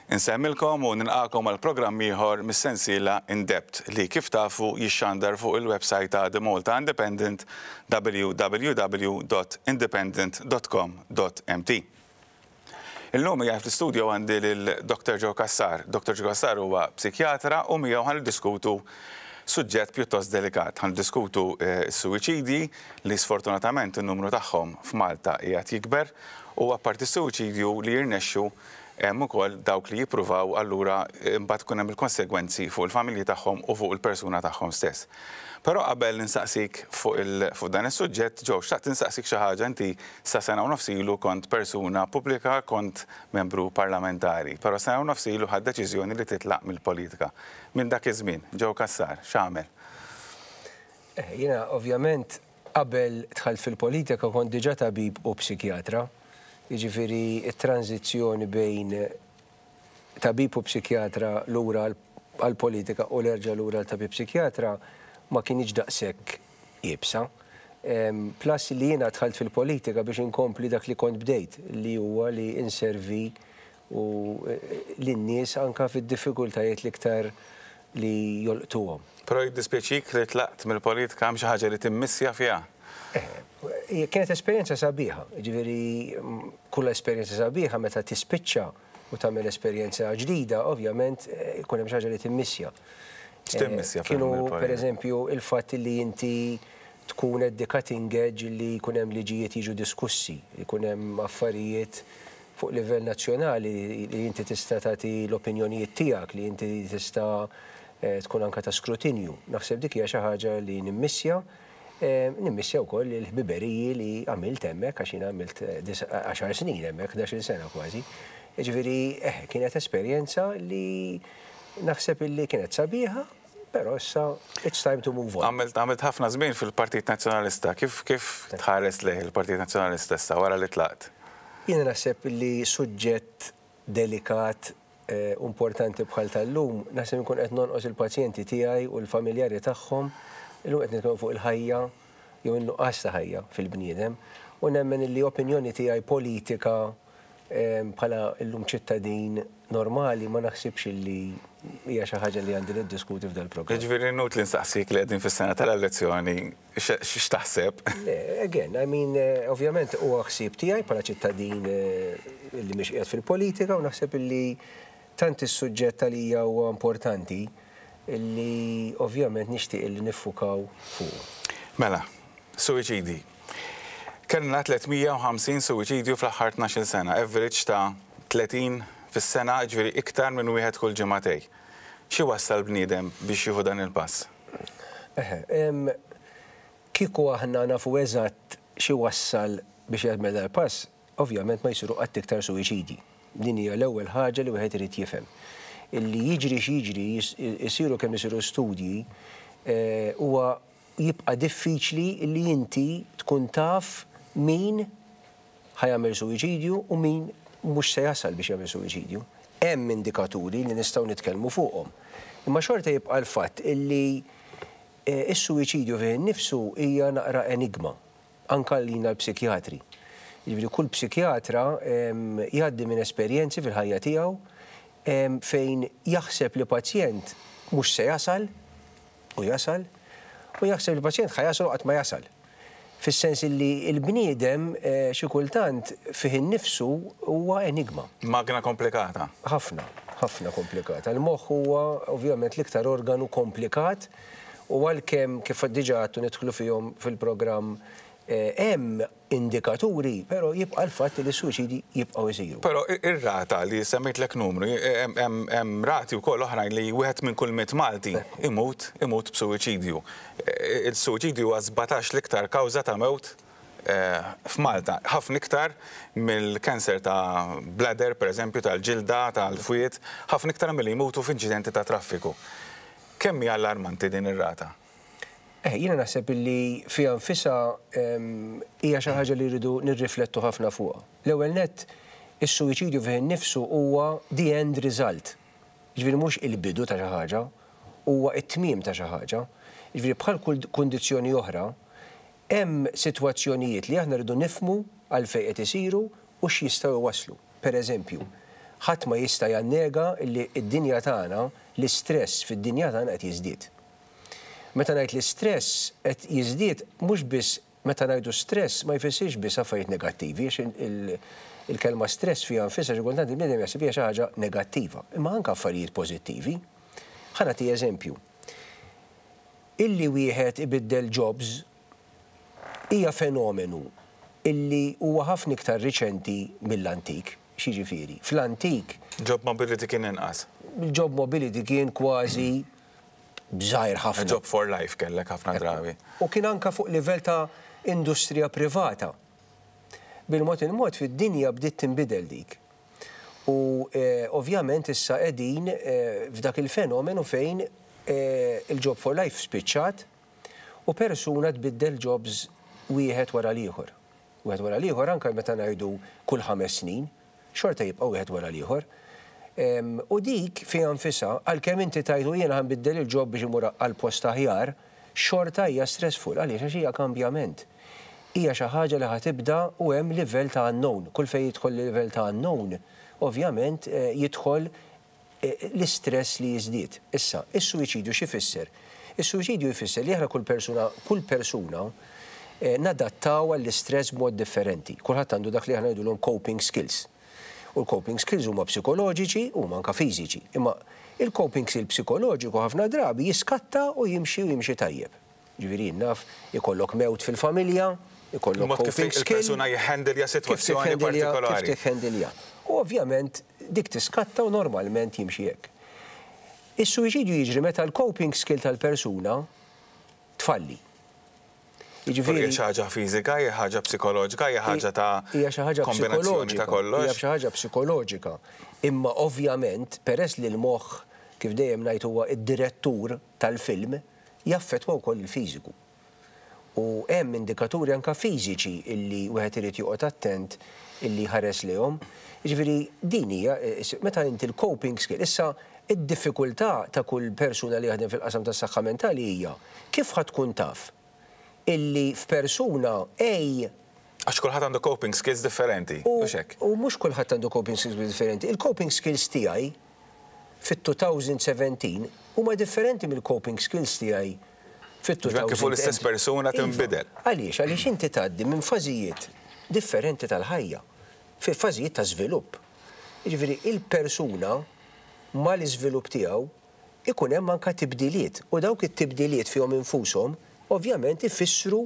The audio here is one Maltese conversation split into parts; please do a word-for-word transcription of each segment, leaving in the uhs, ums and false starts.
Insemmilkom u nilqakom għal programm ieħor mis-sensiela In Depth li kif tafu jixxandar fuq il-website ta' The Malta Independent w w w punt independent punt com punt m t. Illum qiegħed fl-studio għandi lil Doctor Joe Cassar. Doctor Joe Cassar huwa psikjatra u miegħu ħa niddiskutu suġġett pjuttost delikat. Ħa niddiskutu s-suwiċidi li sfortunatament in-numru tagħhom f'Malta qiegħed jikber u apparti s-suwiċidju li jirnexxu, hemm ukoll dawk li jippruvaw, allura imbagħad tkun hemm il-konsegwenzi fuq il-familji tagħhom u fuq il-persuna tagħhom stess. Però qabel ninsaqsik fuq fuq dan is-suġġett, Joe, xtaqt insaqsik xi ħaġa. Inti sa sena u nofs ilu kont persuna pubblika, kont membru parlamentari, però sena u nofs ilu ħadt deċiżjoni li titlaq mill-politika. Minn dak iż-żmien, Joe Cassar, x'għamel? Eh, jiena ovvjament qabel dħalt fil-politika kont diġà tabib u psikjatra. Jiġifieri it-tranzizzjoni bejn tabib u psikjatra lura għal-politika u nerġa' lura għal tabib psikjatra ma kienx daqshekk iebsa. Plus li jiena dħalt fil-politika biex inkompli dak li kont bdejt, li huwa li inservi u lin-nies anka fid-diffikultajiet l-iktar li jolqtuhom. Però jiddispjaċik li tlaqt mill-politika? Hemm xi ħaġa li timmissja fiha? Eh, kienet esperjenza sabiħa, ġifieri kull esperjenza sabiħa meta tispiċċa u tagħmel esperjenza ġdida, ovvjament ikun hemm xi ħaġa li timmissja. X'timmissja? Kienu per eżempju il-fatt li inti tkun at the cutting edge, li jkun hemm liġijiet jiġu diskussi, jkun hemm affarijiet fuq livell nazzjonali li inti tista' tagħti l-opinjonijiet tiegħek, li inti tista' tkun anka ta' skrutinju. Naħseb dik hija xi ħaġa li nimmissja. Nimmissja wkoll il-ħbiberiji li għamilt hemmhekk, għax jiena għamilt għaxar snin hemmhekk, ħdax-il sena kważi. Ġifieri, eh, kienet esperjenza li naħseb illi kienet sabiħa, però issa it's time to move on. Għamilt għamilt ħafna żmien fil-Partit Nazzjonalista. Kif kif tħares lejh il-Partit Nazzjonalista issa wara li tlaqt? Jiena naħseb li suġġett delikat, eh, importanti bħal tal-lum, naħseb nkun qed nonqos il-pazjenti tiegħi u l-familjari tagħhom. Illum qed nitkellmu fuq il-ħajja jew in-nuqqas ta' ħajja fil-bniedem u nemmen li opinjoni tiegħi politika bħala illum ċittadin normali ma naħsibx li hija xi ħaġa li għandi niddiskuti f'dal programm. Ġifieri inutli nsaqsik li qegħdin fis-sena tal-elezzjoni x'taħseb? Le, again, I mean, ovvjament huwa ħsieb tiegħi bħala ċittadin li mhix qiegħed fil-politika u naħseb li tant is-suġġett għalija huwa importanti li ovvjament nixtieq li niffukaw fuq. Mela, suwiċidi. Kellna tliet mija u ħamsin suwiċidju fl-aħħar tnax-il sena, average ta' tletin fis-sena, ġifieri iktar minn wieħed kull ġimagħtejn. Xi wassal bniedem biex jieħu dan il-pass? Eħe, kieku aħna nafu eżatt xi wassal biex jagħmel dal-pass, ovvjament ma jsiru qatt iktar suwiċidi. Din hija l-ewwel ħaġa li wieħed irid jifhem. Illi jiġri x'jiġri, jisiru kemm isiru studji, huwa jibqa' diffiċli li inti tkun taf min ħa jagħmel suwiċidju u min mhux se jasal biex jagħmel suwiċidju. Hemm indikaturi li nistgħu nitkellmu fuqhom. Imma xorta jibqa' l-fatt illi is-suwiċidju fih innifsu hija naqra enigma, anka lina l-psikjatri. Jiġifieri kull psikjatra jgħaddi minn esperjenzi fil-ħajja tiegħu fejn jaħseb li pazjent mhux se jasal u jasal, u jaħseb li pazjent ħa jasal u qatt ma jasal. Fis-sens li l-bniedem xi kultant fih innifsu huwa enigma. Magna komplikata. Ħafna, ħafna komplikata. Il-moħħ huwa ovvjament l-iktar organu komplikat u għalkemm kif diġà għadtu nidħlu fihom fil-programm hemm indikaturi, però jibqa' l-fatt li s-suwiċidi jibqgħu jsiru. Però ir-rata li semmejtlek numru, hemm rati wkoll oħrajn li wieħed minn kull mitt Malti imut imut b'suwiċidju. Il-suwiċidju huwa sbatax l-iktar kawża ta' mewt f'Malta, ħafna iktar mill-kanser ta' bladder, per eżempju, tal-ġilda, tal-fwiet, ħafna iktar milli jmutu f'inċidenti ta' traffiku. Kemm hija allarmanti din ir-rata? Eh, jiena naħseb illi fiha nfisha hija xi ħaġa li rridu nirriflettu ħafna fuqha. L-ewwel nett, is-suwiċidju fih innifsu huwa the end result. Jiġifieri mhux il-bidu ta' xi ħaġa, huwa t-tmiem ta' xi ħaġa. Jiġifieri bħal kull kundizzjoni oħra, hemm sitwazzjonijiet li aħna rridu nifhmu għalfejn qed isiru u x'jistgħu jwasslu. Per eżempju, Ħadd ma jista' jannega li d-dinja tagħna, l-istress fid-dinja tagħna qed jiżdied. Meta ngħid l-istress qed jiżdied, mhux biss meta ngħidu stress ma jfissirx biss affarijiet negattivi, għax il-kelma stress fiha nfisha xi kultant il-bniedem jaħseb hija xi ħaġa negattiva, imma anke affarijiet pożittivi. Ħa nagħti eżempju. Illi wieħed ibiddel jobs hija fenomenu illi huwa ħafna iktar riċenti mill-antik. X'jiġifieri? Fl-antik Job mobility kien inqas. Il-job mobility kien kważi żgħir ħafna. Job for life kellek ħafna drabi. U kien anka fuq livell ta' industrija privata. Bil-mod il-mod fid-dinja bdiet tinbidel dik. U eh, ovvjament issa qegħdin eh, f'dak il-fenomenu fejn eh, il-job for life spiċċat u persuna tbiddel jobs wieħed wara l-ieħor. Wieħed wara l-ieħor anke meta ngħidu kull ħames snin, xorta jibqa' wieħed wara l-ieħor. U dik fiha nfisha, għalkemm inti tgħidu jiena ħa nbiddel il-job biex imur għal post aħjar, xorta hija stressful, għaliex għax hija kambjament. Hija xi ħaġa li ħa tibda u hemm livell ta' unknown. Kull fejn jidħol livell ta' unknown, ovvjament eh, jidħol eh, l-istress li jiżdied. Issa, is-suwiċidju x'ifisser? Is-suwiċidju jfisser li aħna kull persuna, kull persuna eh, nadattaw għall-istress b'mod differenti. Kulħadd għandu dak li aħna ngħidulhom coping skills. U l-coping skills huma psikoloġiċi u anka fiżiċi. Imma il-coping skill psikoloġiku ħafna drabi jiskatta u jimxi u jimxi tajjeb. Ġifieri naf ikollok mewt fil-familja, ikollok Mod kif coping skill. il-persuna jhandilja sitwazzjoni Kif tiħendilja- partikolari. Kif tiħendilja. U ovvjament dik tiskatta u normalment jimxi hekk. Is-suwiċidju jiġri meta l-coping skill tal-persuna tfalli. Jiġifieri xi ħaġa fiżika, hija ħaġa psikoloġika, hija ħaġa ta' hija xi ħaġa kombinazzjoni ta' psikoloġika. kollox. Hija xi ħaġa psikoloġika. Imma ovvjament peress li l-moħħ kif dejjem ngħid huwa id-direttur tal-film jaffettwa wkoll il-fiżiku. U hemm indikaturi anka fiżiċi illi wieħed irid joqgħod attent illi ħares lejhom. Jiġifieri din hija eh, meta inti l-coping skill. Issa id-diffikultà ta' kull persuna li jaħdem fil-qasam tas-saħħa mentali hija kif ħa tkun taf illi f'persuna A Għax kulħadd għandu coping skills differenti, U mhux hekk? u mhux kulħadd għandu coping skills differenti. Il-coping skills tiegħi fit-elfejn u sbatax huma differenti mill-coping skills tiegħi fit-elfejn. Kif l-istess persuna tinbidel. Iva. Għaliex, għaliex inti tgħaddi minn fażijiet differenti tal-ħajja, fi fażijiet ta' żvilupp. Jiġifieri il-persuna mal-iżvilupp tiegħu ikun hemm anka tibdiliet u dawk it-tibdiliet fihom infushom ovvjament ifissru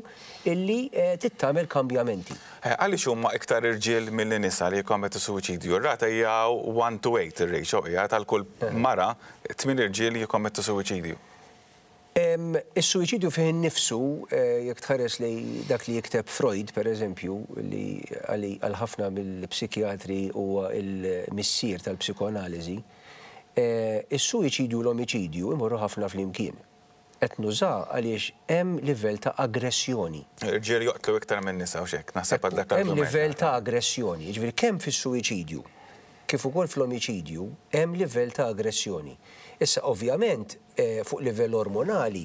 illi eh, tittamel kambjamenti. Eh, Għaliex huma iktar irġiel milli nisa li jikkommettu suwiċidju? Ir-rata hija one to eight ir-ratio hija tal-kull mara tmien irġiel jikkommettu suwiċidju. Em, Is-suwiċidju fih innifsu, eh, jekk tħares li dak li jikteb Freud, per eżempju, li għali għal ħafna mill-psikjatri huwa il-missier tal-psikoanaliżi, eh, is-suwiċidju u l-omiċidju imorru ħafna flimkien. Qed nuża għaliex hemm livell ta' aggressjoni. Irġiel joqtlu iktar minn nisa u xek, naħseb għal dak Hemm l-argument. livell ta' aggressjoni, jiġifieri kemm fis-suwiċidju kif ukoll fl-omiċidju hemm livell ta' aggressjoni. Issa ovvjament eh, fuq livell ormonali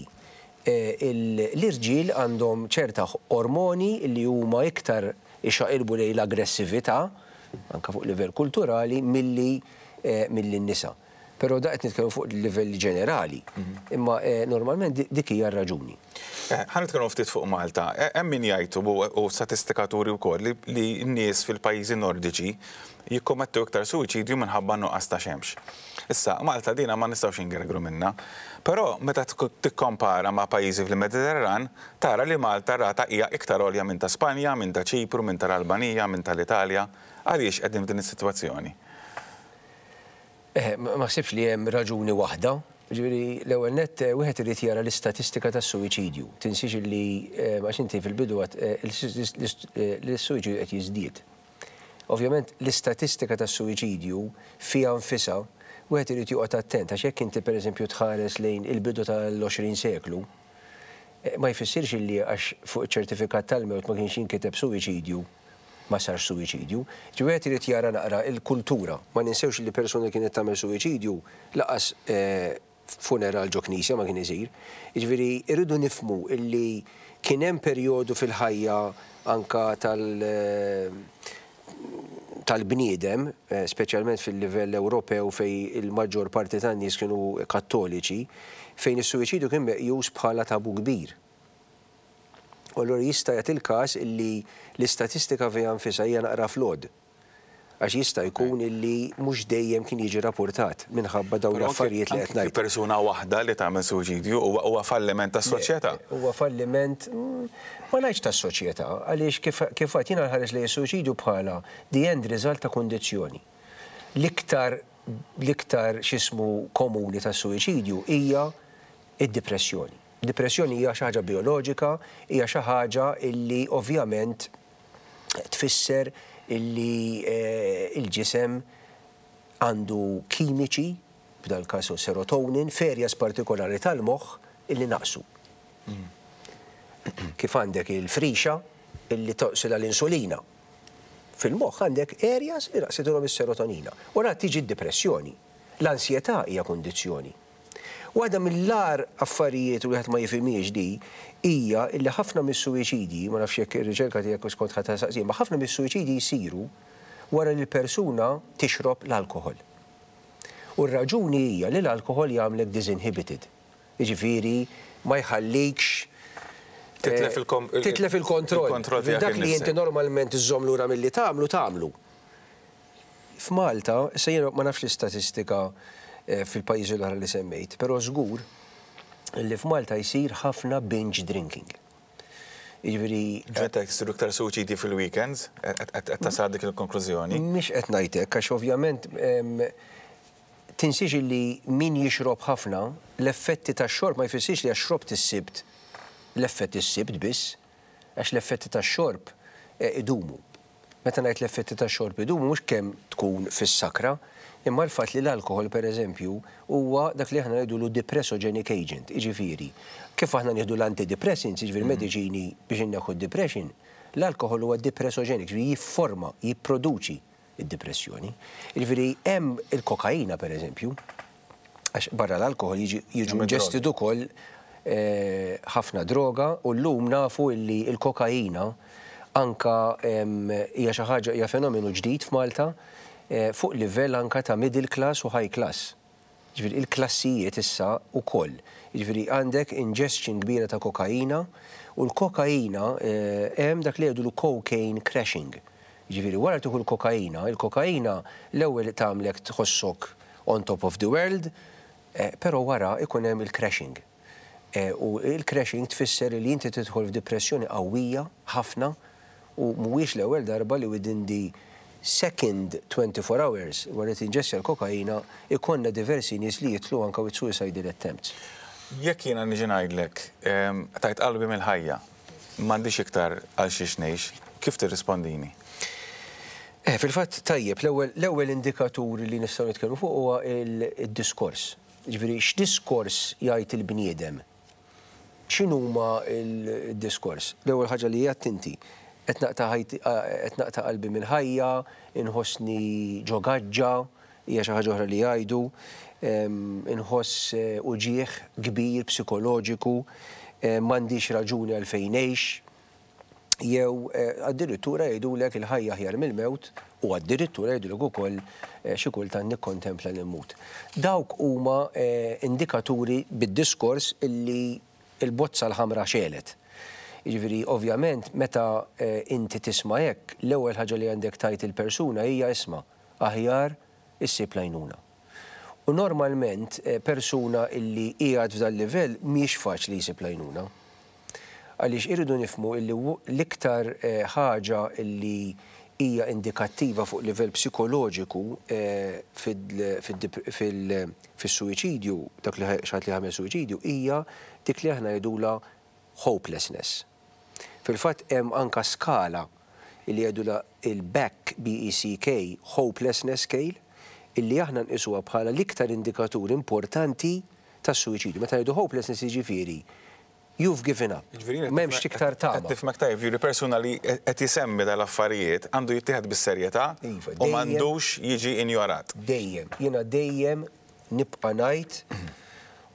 eh, il- l-irġiel għandhom ċerta ormoni li huma iktar ixaqilbu lejn l-aggressività, anka fuq livell kulturali, milli eh, milli n-nisa. Però da qed nitkellmu fuq livell ġenerali. Imma eh, normalment di- dik hija r-raġuni. Eh, Ħa nitkellmu ftit fuq Malta. Eh, Hemm min jgħidu u u statistikaturi wkoll li li n-nies fil-pajjiżi nordiċi jikkommettu iktar suwiċidju minħabba nuqqas ta' xemx. Issa, Malta dina ma nistgħux ingergru minna. Però meta tkun tikkompara ma' pajjiżi fil-Mediterran, tara li Malta rata hija iktar għolja minn ta' Spanja, minn ta' Ċipru, minn tal-Albanija, minn tal-Italja. Għaliex qegħdin f'din is-sitwazzjoni? Eh, ma ma ħsibx li hemm raġuni waħda. Ġifieri l-ewwel nett eh, wieħed irid jara l-istatistika tas-suwiċidju. Tinsiex li eh, għax inti fil-bidu għat eh, l-suwiċidju qed jiżdied. Ovvjament l-istatistika tas-suwiċidju fiha nfisha wieħed irid joqgħod attent għax jekk inti pereżempju tħares lejn il-bidu tal-għoxrin seklu, eh, ma jfissirx li għax fuq iċ-ċertifikat tal-mewt ma kienx jinkiteb suwiċidju ma sarx suwiċidju. Ġifieri irid jara naqra il-kultura. Ma ninsewx li persuna kienet tagħmel suwiċidju lanqas eh, funeral ġo knisja ma kien isir. Jiġifieri irridu nifhmu illi kien hemm perjodu fil-ħajja anka tal eh, tal-bniedem, speċjalment fil-livell Ewropew fejn il-maġġor parti tan-nies kienu kattoliċi, fejn is-suwiċidju kien meqjus bħala tabu kbir. U allura jista' jagħti il-każ illi l-istatistika fiha nfisha hija naqra flawed. Għax jista' jkun illi mhux dejjem kien jiġi rapportat minħabba dawn l-affarijiet li qed ngħid. Persuna waħda li tagħmel suwiċidju huwa falliment tas-soċjetà. Huwa falliment, ma ngħidx tas-soċjetà, għaliex kif għedt jiena nħares li suwiċidju bħala the end result ta' kundizzjoni. L-iktar l-iktar x'ismu komuni tas-suwiċidju hija id-depressjoni. Depressjoni hija xi ħaġa bioloġika, hija xi ħaġa illi ovvjament tfisser illi il-ġisem għandu kimiċi, b'dal każ serotonin, f'areas partikolari tal-moħħ illi naqsu. Kif għandek il-frixa illi toqsilha l-insulina. Fil-moħħ għandek areas li naqsidulhom is-serotonina. Wara tiġi d-depressjoni. L-ansjetà hija kundizzjoni. Waħda mill-agħar affarijiet u wieħed ma jifhimhiex di hija illi ħafna mis-suwiċidi, ma nafx jekk ir-riċerka tiegħek skont ħadd saqsi, ma ħafna mis-suwiċidi jsiru wara li l-persuna tixrob l-alkoħol. U r-raġuni hija li l-alkoħol jagħmlek disinhibited. Jiġifieri ma jħallikx titlef il-kontroll. Dak li inti normalment iżżomm lura milli tagħmlu tagħmlu. F'Malta, issa jiena ma nafx l-istatistika fil-pajjiżi l-oħra li semmejt, però żgur li f'Malta jsir ħafna binge drinking. Jiġifieri Ġetta jsiru iktar suwiċidi fil-weekends, qed tasal dik il-konklużjoni? Mhix qed ngħidlek għax ovvjament tinsiex li min jixrob ħafna, l-effetti tax-xorb ma jfissirx li għax xrobt is-Sibt, l-effett is-Sibt biss, għax l-effetti tax-xorb idumu. Meta ngħid l-effetti tax-xorb idumu mhux kemm tkun fis-sakra, imma l-fatt li l-alkohol pereżempju huwa dak li aħna ngħidulu depressogenic agent, jiġifieri. Kif aħna nieħdu l-antidepressants, jiġifieri mediċini biex inneħħu d-depression, l-alkohol huwa depressogenic, jiġifieri jifforma, jipproduċi id-depressjoni. Jiġifieri hemm il-kokaina pereżempju, għax barra l-alkohol jiġu ingested ukoll ħafna droga u llum nafu illi l-kokaina anka hija xi ħaġa, hija fenomenu ġdid f'Malta fuq livell anka ta' middle class u high class. Jiġifieri il-klassijiet issa ukoll. Jiġifieri għandek ingestion kbira ta' kokaina u l-kokaina hemm dak li jgħidulu cocaine crashing. Jiġifieri wara tieħu l-kokaina, il-kokaina l-ewwel tagħmlek tħossok on top of the world, però wara ikun hemm il-crashing. U il-crashing tfisser li inti tidħol f'depressjoni qawwija ħafna u mhuwiex l-ewwel darba li within the second twenty-four hours wara tinġessja l-kokaina ikonna diversi nies li jitlu anka with suicidal attempts. Jekk jiena niġi ngħidlek tajt qalbi mill-ħajja, m'għandix iktar għal xiex ngħix, kif tirrispondini? Fil-fatt tajjeb, l-ewwel indikatur li nistgħu nitkellmu fuq huwa il-diskors. Jiġifieri x'diskors jgħid il-bniedem? X'inhuma il-diskors? L-ewwel ħaġa li għedt inti, qed naqta' qalbi mill-ħajja, inħossni ġo gaġġa, hija xi ħaġa oħra li jgħidu, inħoss uġieħ kbir psikoloġiku, m'għandix raġuni għalfejn ngħix, jew addirittura jgħidulek il-ħajja aħjar mill-mewt u addirittura jgħidulek ukoll xi kultant nikkontempla li mmut. Dawk huma indikaturi bid-diskors illi il-bozza l-ħamra xegħlet. Jiġifieri ovvjament meta inti tisma' hekk, l-ewwel ħaġa li għandek tajt il-persuna hija isma' aħjar issib l-għajnuna. U normalment persuna illi qiegħed f'dan livell mhijiex faċli jsib l-għajnuna. Għaliex irridu nifhmu illi l-iktar ħaġa illi hija indikattiva fuq livell psikoloġiku fis-suwiċidju, dak li xi ħadd li jagħmel suwiċidju, hija dik li aħna ngħidulha hopelessness. Fil-fatt hemm anka skala illi jgħidulha il-Beck, B E C K, hopelessness scale, illi aħna nqisuha bħala l-iktar indikatur importanti tas-suwiċidju. Meta ngħidu hopelessness jiġifieri you've given up. Jiġifieri M'hemmx iktar tama. Qed tifhmek tajjeb, jiġifieri persuna li qed jisemmi dal-affarijiet għandu jittieħed bis-serjetà Iva, u dejjem m'għandux jiġi injorat. Dejjem, jiena dejjem nibqa' ngħid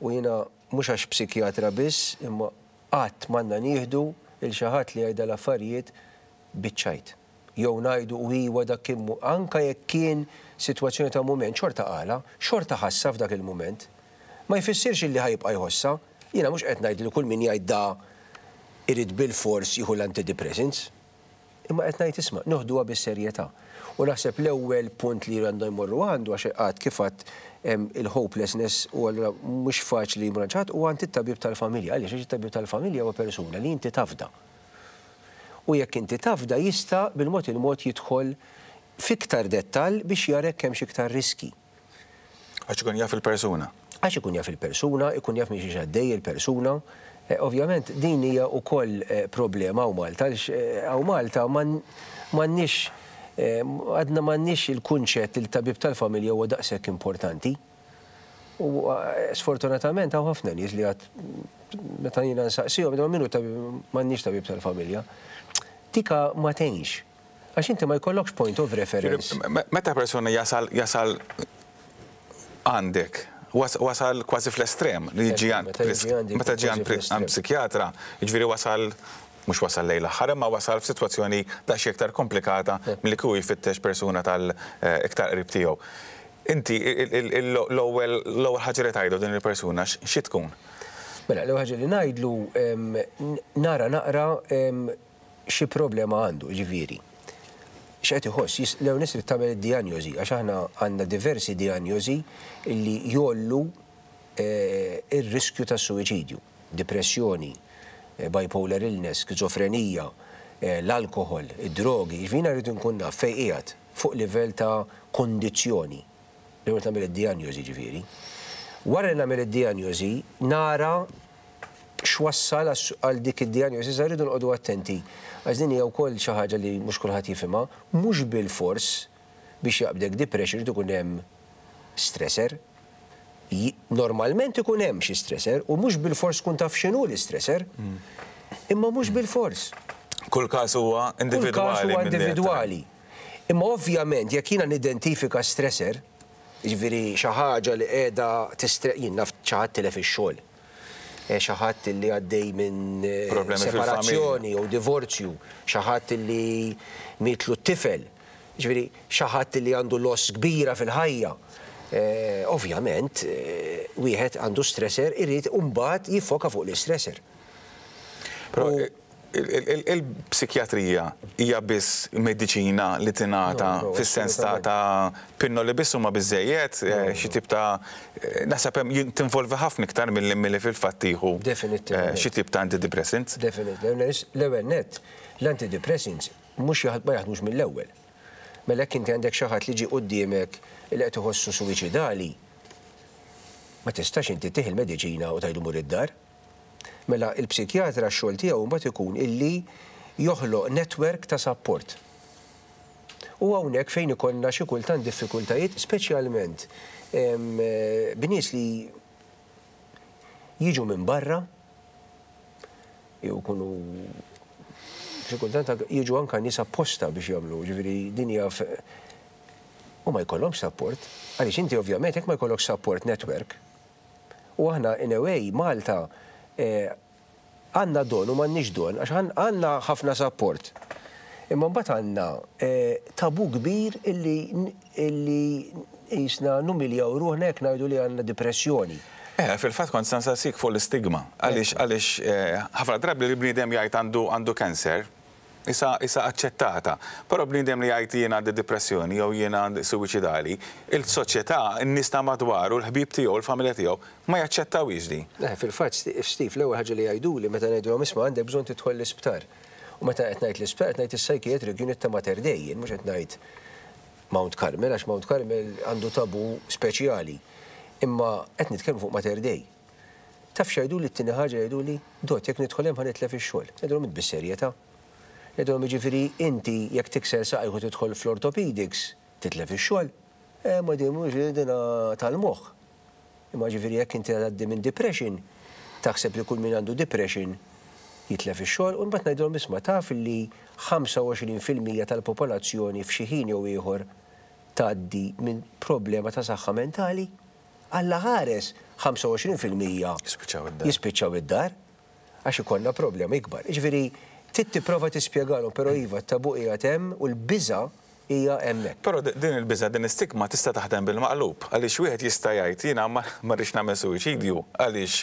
u jiena mhux għax psikjatra biss, imma qatt m'għandna nieħdu il xi ħadd li jgħid l-affarijiet biċ-ċajt. Jew ngħidu u iwa dak kien anka jekk kien sitwazzjoni ta' mument, xorta qala, xorta ħassa f'dak il-mument. Ma jfissirx li ħa jibqa' jħossa. Jiena mhux qed ngħid li kull min jgħid da irid bil-fors jieħu l-antidepressants. Imma qed ngħid, isma', noħduha bis-serjetà. U naħseb l-ewwel punt li għandu jmorru għandu, għax għad kif għedt il-hopelessness u allura mhux faċli jmur għand u għand it-tabib tal-familja. Għaliex? Għax it-tabib tal-familja huwa persuna li inti tafda. U jekk inti tafda, jista' bil-mod il-mod jidħol fiktar dettal biex jarek kemm iktar riski. Għax ikun jaf il-persuna. Għax ikun jaf il-persuna, ikun jaf minn xiex għaddej il-persuna. Eh, ovvjament din hija wkoll eh, problema hawn Malta, għaliex eh, hawn Malta m'għandniex, għadna m'għandniex il-kunċett il-tabib tal-familja huwa daqshekk importanti. U sfortunatament hawn ħafna nies li għad meta jiena nsaqsihom, "Min hu tabib?" "M'għandniex tabib tal-familja." Tika ma tgħinx. Għax inti ma jkollokx point of reference. Meta persuna jasal jasal għandek, wasal kważi fl-estrem li jiġi għand, meta ġi għand psikjatra, jiġifieri wasal, mhux wasal lejn l-aħħar, imma wasal f'sitwazzjoni daqsxejn iktar komplikata milli kieku jfittex persuna tal-iktar qrib tiegħu. Inti l-ewwel ħaġa li tgħidu din il-persuna xi tkun? Mela, l-ewwel ħaġa li ngħidlu, nara naqra xi problema għandu, ġifieri x'qed iħoss. L-ewwel nett tagħmel id-dijanjosi, għax aħna għandna diversi dijanjosi illi jgħollu eh, ir-riskju ta' suwiċidju: depressjoni, eh, bipolar illness, skizofrenija, eh, l-alkohol, id-drogi. Jiġifieri rridu nkun naf fejn qiegħed fuq livell ta' kondizzjoni. L-ewwel tagħmel id-dijanjosi ġifieri. Wara li nagħmel id-dijanjosi, nara x'wassal għal dik id-dijanjosi. Sa rridu noqogħdu attenti. Għax din hija wkoll xi ħaġa li mhux kulħadd jifhimha, mhux bil-fors biex jaqbdek depression irid ikun hemm stressor. Normalment ikun hemm xi stressor u mhux bil-fors tkun taf x'inhu l-istressor. Imma mhux bil-fors. Kull każ huwa individwali. Kull każ huwa individwali. Imma ovvjament jekk jiena nidentifika stressor, jiġifieri xi ħaġa li qiegħda tistre jien naf, xi ħadd tilef ix-xogħol, eh, xi ħadd li għaddej minn eh, Problemi separazzjoni jew divorzju, xi ħadd li mietlu t-tifel, ġifieri xi ħadd li għandu loss kbira fil-ħajja. Eh, ovvjament, eh, wieħed għandu stressor, irid mbagħad jiffoka fuq l-istressor. Però il-psikjatrija hija biss mediċina li tingħata fis-sens ta' ta' pinnoli biss huma biżejjed, eh, xi tip ta' eh, naħseb hemm tinvolvi ħafna iktar milli milli fil-fatt tieħu Definitivament. xi tip ta' antidepressants. Definitely. L-ewwel net, l-antidepressants mhux ma jaħdmux mill-ewwel. Mela jekk inti għandek xi ħadd li ġi quddiemek li qed iħossu suwiċidali, ma tistax inti ttih il-mediċina u tgħidlu mur id-dar. Mela il-psikjatra x-xogħol tiegħu mbagħad ikun illi joħloq network ta' support. U hawnhekk fejn ikollna xi kultant diffikultajiet, speċjalment b'nies li jiġu minn barra, jew kunu xi kultant jiġu anka nies apposta biex jagħmlu, ġifieri din hija u ma jkollhomx support. Għaliex inti ovvjament jekk ma jkollokx support network. U aħna in a way Malta eh, għandna don u m'għandniex don, għax għandna ħafna support. Imma mbagħad għandna eh, tabu kbir illi illi jisna numiljaw ruħna jekk ngħidu li għandna depressjoni. Eh, fil-fatt kont se nsaqsik fuq l-istigma. Għaliex għaliex eh, ħafna drabi li bniedem jgħid għandu għandu kanser, issa issa aċċettata. Però bniedem li jgħid jiena għandi depressjoni jew jiena għandi suwiċidali, il-soċjetà, n-nies ta' madwaru, l-ħbib tiegħu, l-familja tiegħu ma jaċċettawhiex di. Eh, fil-fatt, Steve, l-ewwel ħaġa li jgħiduli meta ngħidulhom, "Isma', għandek bżonn tidħol l-isptar." U meta qed ngħid l-isptar, qed ngħid is-psychiatric unit ta' Mater Dei, jien mhux qed ngħid Mount Carmel, għax Mount Carmel għandu tabu speċjali. Imma qed nitkellmu fuq Mater Dei. Taf x'jgħidu li t-tieni ħaġa jgħidu li, "Dott, jekk nidħol hemm ħa nitlef ix-xogħol." Ngħidulhom, "Bis-serjetà?" Ngħidulhom, "Jiġifieri inti jekk tikser saqajk u tidħol fl-orthopedics titlef ix-xogħol?" "Eh, ma din mhux dina tal-moħħ." Imma ġifieri jekk inti għaddi minn depression, taħseb li kull min għandu depression jitlef ix-xogħol? U mbagħad ngħidulhom, "Isma', taf li ħamsa u għoxrin fil-mija tal-popolazzjoni f'xi ħin jew ieħor tgħaddi minn problema ta' saħħa mentali? Alla ħares ħamsa u għoxrin fil-mija Jispiċċaw id-dar. Jispiċċaw id-dar għax ikollna problema ikbar." Ġifieri Trid tipprova tispjegalhom, però iva, t-tabu qiegħed hemm u l-biża' hija hemmhekk. Però din il-biża', din istigma tista' taħdem bil-maqlub, għaliex wieħed jista' jgħid jiena ma rridx nagħmel suwiċidju għaliex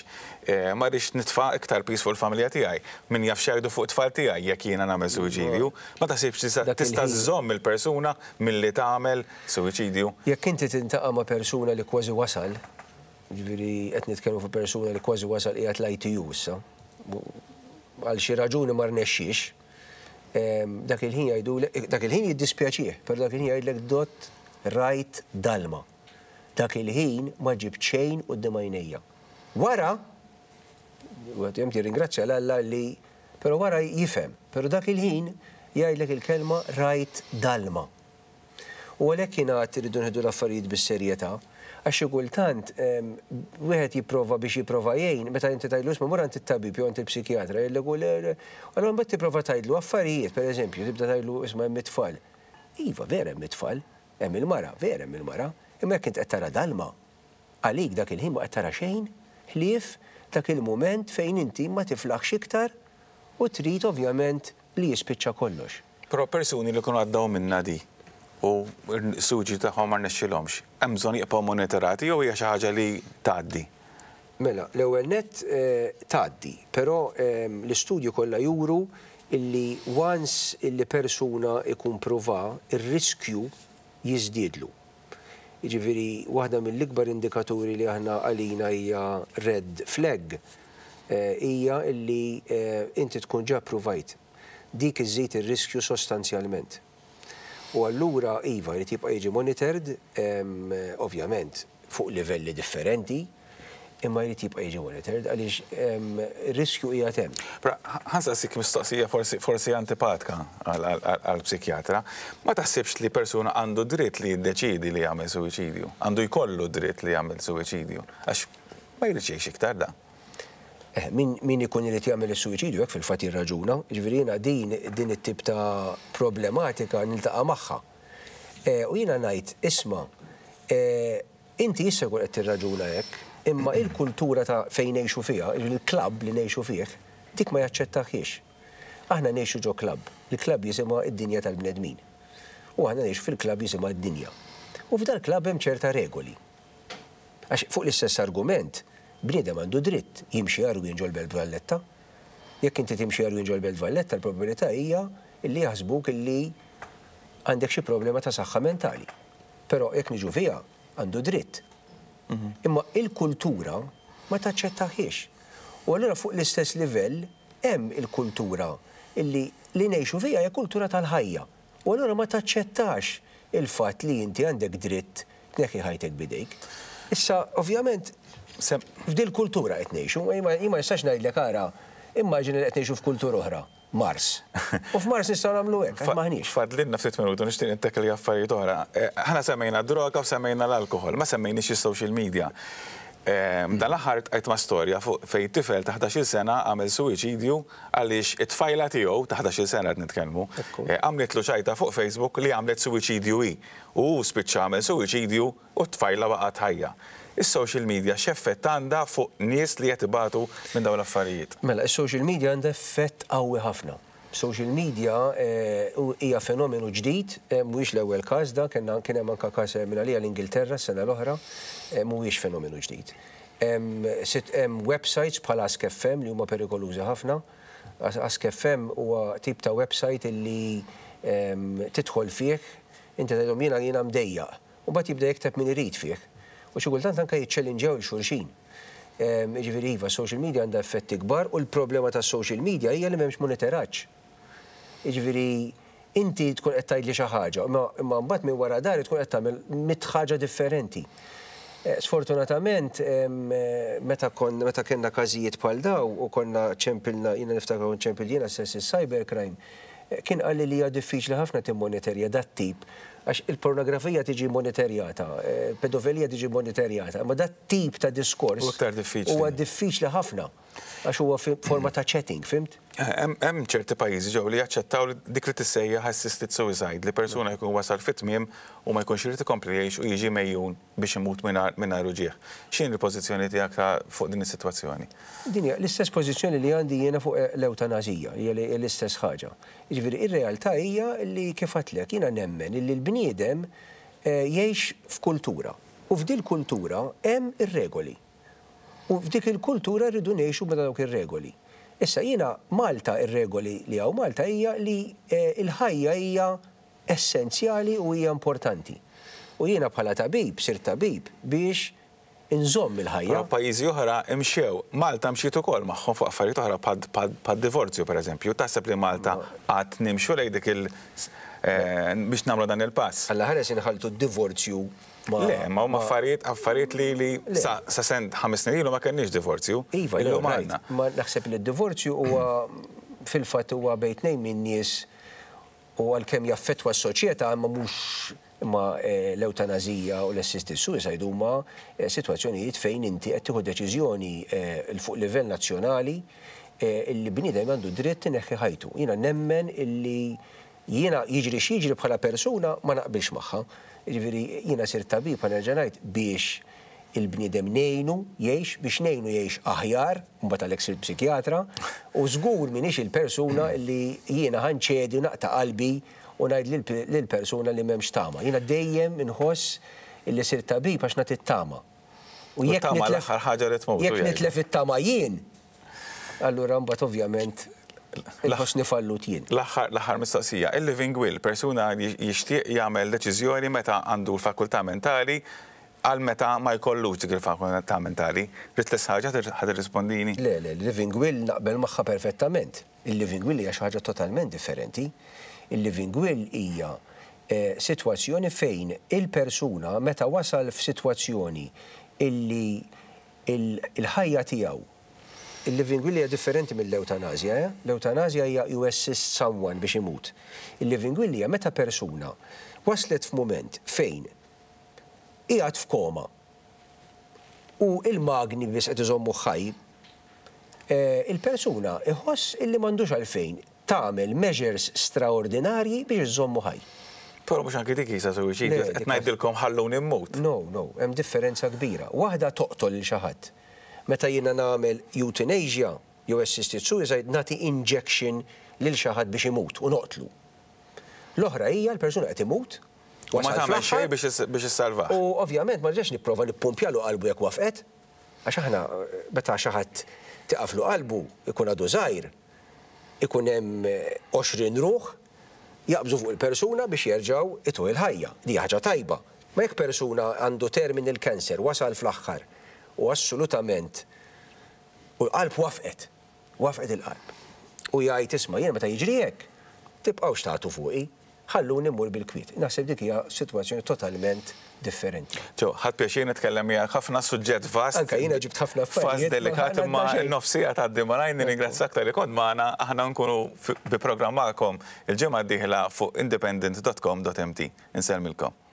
eh, ma rridx nitfa' iktar piż fuq il-familja tiegħi. Min jaf x'jgħidu fuq it-tfal tiegħi jekk jiena nagħmel suwiċidju. Ma taħsibx tista' żżomm il-persuna milli tagħmel suwiċidju? Jekk inti tiltaqa' ma' persuna li kważi wasal, ġifieri qed nitkellmu fuq persuna li kważi wasal, qiegħed l-I T U issa, għal xi raġuni ma rnexxiex, dak il-ħin jgħidu, dak il-ħin jiddispjaċih, però dak il-ħin jgħidlek, "Dott, rajt dalma. Dak il-ħin ma ġibt xejn quddiem għajnejja." Wara, għax jirringrazzja 'l Alla li, però wara jifhem, però dak il-ħin jgħidlek il-kelma "rajt dalma". U għalhekk jiena rridu nieħdu l-affarijiet bis-serjetà, għax xi kultant wieħed jipprova biex jipprova jgħin, meta inti tgħidlu, "Isma', mur għand it-tabib jew għand il-psikjatra", jgħidlek, "U le." Allura mbagħad tipprova tgħidlu affarijiet, pereżempju, tibda tgħidlu, "Isma', hemm it-tfal." Iva, vera hemm it-tfal, hemm il-mara, vera hemm il-mara, imma jekk int qed tara dalma, għalik dak il-ħin ma qed tara xejn, ħlief dak il-mument fejn inti ma tiflaħx iktar u trid ovvjament li jispiċċa kollox. Però persuni li kunu għaddew minn di u s-suwiċidju tagħhom ma rnexxilhomx, hemm bżonn jibqgħu monitorati jew hija xi ħaġa li tgħaddi? Mela, l-ewwel net eh, tgħaddi, però ehm, l-istudju kollha juru illi once illi persuna ikun prova, ir-riskju jiżdiedlu. Jiġifieri waħda mill-ikbar indikaturi li aħna għalina hija red flag eh, hija illi eh, inti tkun ġa provajt. Dik iżżid ir-riskju sostanzjalment. U allura iva, jrid jibqa' jiġi monitored, em, ovvjament fuq livelli differenti, imma jrid jibqa' jiġi monitored għaliex em, ir-riskju hija hemm. Però ħa nsaqsik mistoqsija forsi, forsi antipatika għal-psikjatra. Ma taħsibx li persuna għandu dritt li jiddeċidi li jagħmel suwiċidju? Għandu jkollu dritt li jagħmel suwiċidju? Għax ma jridx jgħix iktar da. Eh, min, min ikun irid jagħmel is-suwiċidju hekk fil-fatt jirraġuna, ġifieri jiena din din it-tip ta' problematika niltaqa' magħha. Eh, u jiena ngħid, isma', eh, inti issa jkun qed tirraġuna hekk, imma il-kultura ta' fejn ngħixu fiha, il-klabb li ngħixu fih, dik ma jaċċettaħiex. Aħna ngħixu ġo klabb, il-klabb jisimha id-dinja tal-bnedmin. U aħna ngħixu fil-klabb jisimha id-dinja. U f'dal klabb hemm ċerta regoli. Għax fuq l-istess argument, bniedem għandu dritt jimxi għarwien ġol-Belt Valletta. Jekk inti timxi għarwien ġol-Belt Valletta, l-probabilità hija illi jaħsbuk illi għandek xi problema ta' saħħa mentali. Però jekk niġu fiha, għandu dritt. Imma il-kultura ma taċċettaħiex. U allura fuq l-istess livell hemm il-kultura illi li ngħixu fiha hija kultura tal-ħajja. U allura ma taċċettax il-fatt li inti għandek dritt tneħħi ħajtek bidejk. Issa, ovvjament, f'dil kultura qed ngħixu, ma ma nistax ngħidlek ara, immaġini li qed ngħixu f'kultura oħra, Mars. U f'Mars nistgħu nagħmlu hekk, għax maħniex. Fadlilna ftit minuti, nixtieq nittekli affarijiet oħra. Eh, Aħna semmejna droga u semmejna l-alkohol, ma semmejniex is-social media. Eh, Dan l-aħħar ltqajt ma' storja fuq fejn tifel ta' ħdax-il sena għamel suwiċidju għaliex it-tfajla tiegħu ta' ħdax-il sena qed nitkellmu, Ekku. eh, għamlitlu ċajta fuq Facebook li għamlet suwiċidju hi. U hu spiċċa għamel suwiċidju u t-tfajla baqgħet ħajja. Is-social media x'effett għandha fuq nies li qed ibatu minn dawn l-affarijiet? Mela, is-social media għandha effett qawwi ħafna. Social media eh, u- hija fenomenu ġdid, eh, mhuwiex l-ewwel każ da, kellna kien hemm anke każ minn għalija l-Ingilterra s-sena l-oħra, eh, mhuwiex fenomenu ġdid. Hemm sit- hemm websites bħal Ask F M li huma perikolużi ħafna. As- Ask F M huwa tip ta' website illi em, tidħol fih, inti tgħidhom jiena jiena mdejjaq, u mbagħad jibda jikteb min irid fih. U xi kultant anke jiċċellinġew 'il xulxin. Em, Ġifieri iva, social media għandha effetti kbar u l-problema tas social media hija li m'hemmx monitoraġġ. Ġifieri inti tkun qed tgħidli xi ħaġa, imma imma mbagħad minn wara dari tkun qed tagħmel mitt ħaġa differenti. Eh, Sfortunatament, em, eh, meta kon meta kellna każijiet bħal daw u konna ċempilna, jiena niftakar kont ċempil jiena stess il-cybercrime, eh, kien qalli li hija diffiċli ħafna timmonitorja dat tip. Għax il-pornografija tiġi monitorjata, pedofilija tiġi monitorjata, ma dat tip ta' diskors huwa diffiċli ħafna, għax huwa forma ta' chatting, fhimt? Hemm ċerti pajjiżi ġew li jaċċettaw dik li tissejjaħ assisted suicide, li persuna jkun wasal fit-tmiem u ma jkunx irid ikompli jgħix u jiġi megħjun biex imut mingħajr uġigħ. X'inhi l-pożizzjoni tiegħek fuq din is-sitwazzjoni? Din hija l-istess pożizzjoni li għandi jiena fuq l-ewtanazija, hija l-istess ħaġa. Jiġifieri ir-realtà hija li kif għedtlek jiena nemmen li l-bniedem jgħix f'kultura. U f'dil kultura hemm ir-regoli. U f'dik il-kultura rridu ngħixu ma' dawk ir-regoli. Issa jiena Malta ir-regoli li hawn Malta hija li l-ħajja hija essenzjali u hija importanti. U jiena bħala tabib, sirt tabib biex inżomm il-ħajja. Pajjiżi oħra imxew, Malta mxiet ukoll magħhom fuq affarijiet oħra bħad-divorzju pereżempju. Taħseb li Malta qatt nimxu lejn dik il biex nagħmlu dan il-pass? Alla ħares inħaltu d-divorzju ma. Le, ma huma affarijiet affarijiet li li sa sent ħames snin ilu ma kenniex divorzju. Iva, illum għandna. Ma naħseb li d-divorzju huwa fil-fatt huwa bejn tnejn minn nies u għalkemm jaffettwa s-soċjetà imma mhux imma l-ewtanazija u l-assisted suicide huma sitwazzjonijiet fejn inti qed tieħu deċiżjoni fuq livell nazzjonali illi bniedem għandu dritt ineħħi ħajtu. Jiena nemmen illi jiena jiġri x'jiġri bħala persuna ma naqbilx magħha. Jiġifieri jiena sirt tabib bħala nerġa' ngħid biex il-bniedem ngħinu jgħix, biex ngħinu jgħix aħjar, mbagħad għalhekk sirt psikjatra, u żgur m'iniex il-persuna li jiena ħanċedi u naqta' qalbi u ngħid lill-persuna li m'hemmx tama. Jiena dejjem inħoss illi sirt tabib għax nagħti t-tama. U jekk nitlef ħaġa li tmut. Jekk nitlef it-tama jien, allura mbagħad ovvjament inħossni fallut jien. L-aħħar mistoqsija, il-living will, persuna jixtieq jagħmel deċiżjoni meta għandu l-fakultà mentali għal meta ma jkollux dik il-fakultà mentali. Rid l ħaġa ħad irrispondini? Le, le, il-living will naqbel magħha perfettament. Il-living will hija xi ħaġa totalment differenti. Il-living will hija sitwazzjoni fejn il-persuna meta wasal f'sitwazzjoni illi il-ħajja tiegħu. Il-living will hija differenti mill-eutanazja, eh? L-eutanazja hija you assist someone biex imut. Il-living will hija meta persuna waslet f'mument fejn qiegħed f'koma u il-magni biss qed iżommu ħaj, il-persuna iħoss illi m'għandux għalfejn tagħmel measures straordinarji biex iżommu ħaj. Però mhux anki dik isa suwiċidju, qed ngħidilkom ħalluni mmut. No, no, hemm differenza kbira. Waħda toqtol lil xi ħadd. Meta jiena nagħmel euthanasia jew assisted suicide nagħti injection lil xi ħadd biex imut u noqtlu. L-oħra hija l-persuna qed imut. U ma tagħmel xejn biex issalvah. U ovvjament ma rġax nipprova nippumpjalu qalbu jekk wafqet, għax aħna meta xi ħadd tiqaflu qalbu ikun għadu żgħir, ikun hemm għoxrin ruħ jaqbżu fuq il-persuna biex jerġgħu itu il-ħajja. Di ħaġa tajba. Ma jekk persuna għandu terminal cancer wasal fl-aħħar u assolutament u l-qalb wafqet, wafqet il-qalb. U jgħid isma' jiena meta jiġri hekk, tibqgħux tagħtu fuqi, ħalluni mmur bil-kwiet. Naħseb dik hija sitwazzjoni totalment differenti. Ġo, ħadt pjaċir nitkellem miegħek ħafna suġġett vast. Anka jiena ġibt ħafna affarijiet. Vast delikat imma n-nofsija tgħaddi malajr, nirringrazzjak talli kont magħna, aħna nkunu bi programm magħkom il-ġimgħa d-dieħla fuq independent dot com dot M T. Insellmilkom.